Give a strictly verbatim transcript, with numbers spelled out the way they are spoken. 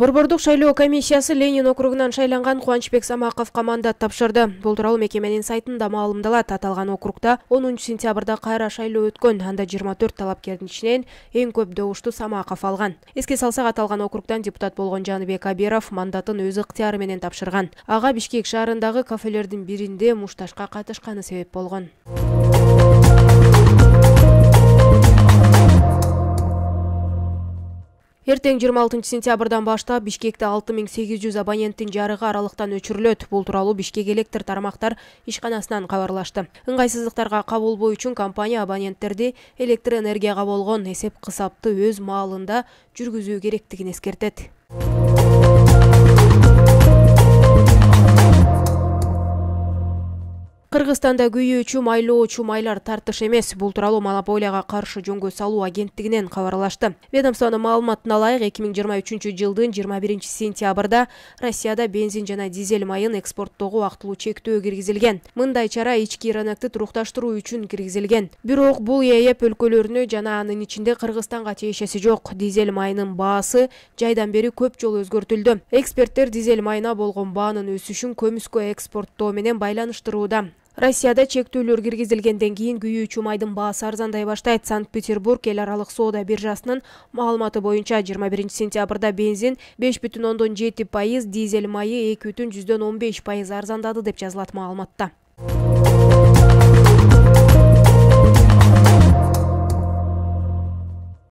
Борбордук шайлоо комиссиясы Ленин округунан шайланган Кубанычбек Самаковго мандат тапшырды. Бул тууралуу мекеменин сайтында маалымдалат. Аталган округда онунчу сентябрда кайра шайлоо өткөн. Анда жыйырма төрт талапкердин ичинен эң көп добушту Самаков алган. Эске салсак, аталган округдан депутат болгон Жаныбек Аберов мандатын өз ыктыяры менен тапшырган. Ага Бишкек шаарындагы кафелердин биринде мушташка катышканы себеп болгон. Эртең жыйырма алтынчы сентябрдан баштап Бишкекте алты миң сегиз жүз абоненттин жарыгы аралыктан өчүрүлөт. Бул тууралуу Бишкек электр тармактар ишканасынан кабарлашты. Ыңгайсыздыктарга кабыл болуу үчүн компания абоненттерди электр энергияга болгон эсеп кысапты өз маалында жүргүзүү керектигин эскертет. Кыргызстанда күйүүчү майлоочу майлар тартыш эмес. Бул тууралуу монополияга каршы жөнгө салуу агенттигинен кабарлашты. Ведомствонун маалыматына ылайык, эки миң жыйырма үчүнчү жылдын жыйырма биринчи сентябрда Россияда бензин жана дизель майын экспорттоого вактылуу чектөө киргизилген. Мындай чара ички рынокты турукташтыруу үчүн киргизилген. Бирок бул ЕЭП өлкөлөрүнө жана анын ичинде Кыргызстанга тиешеси жок. Дизель майынын баасы жайдан бери көп жолу өзгөртүлдү. Эксперттер дизель майына болгон баанын өсүшүн көмүскө экспорттоо менен байланыштырууда. Россияда чектөөлөр киргизилгенден кийин күйүүчү майдын баасы арзандай баштайт. Санкт-Петербург эл аралык соода биржасынын маалыматы боюнча жыйырма биринчи сентябрда бензин беш бүтүн ондон жети пайыз, дизель майы эки бүтүн жүздөн он беш пайыз арзандады деп жазылат маалыматта.